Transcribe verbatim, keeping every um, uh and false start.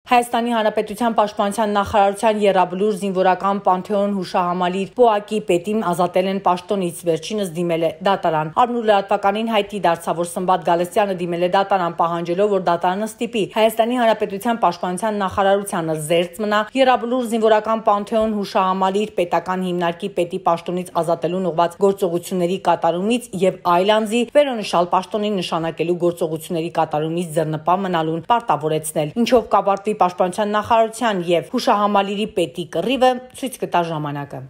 Հայաստանի Հանրապետության Պաշտպանության նախարարության եռաբլուր զինվորական Պանթեոն հուշահամալիր ՊՕԱԿ-ի պետին ազատել են պաշտոնից, վերջինս դիմել է դատարան։ Առնու լրատվականին հայտի դարձավ, որ Սմբատ Գալստյանը դիմել է դատարան, պահանջելով, որ դատարանը ստիպի Հայաստանի Հանրապետության Պաշտպանության նախարարությանը զերծ մնա եռաբլուր զինվորական Պանթեոն հուշահամալիր պետական հիմնարկի պետի պաշտոնից ազատելուն ուղղված գործողությունների կատարումից եւ այլ անձի վերոնշալ պաշտոնին նշանակելու գործողությունների կատարումից ձեռնպահ մնալուն պարտավորեցնել, ինչով կապարտվի Պաշտպանության նախարարության եւ հուշահամալիրի պետի կռիվը, ցույց կտա ժամանակը։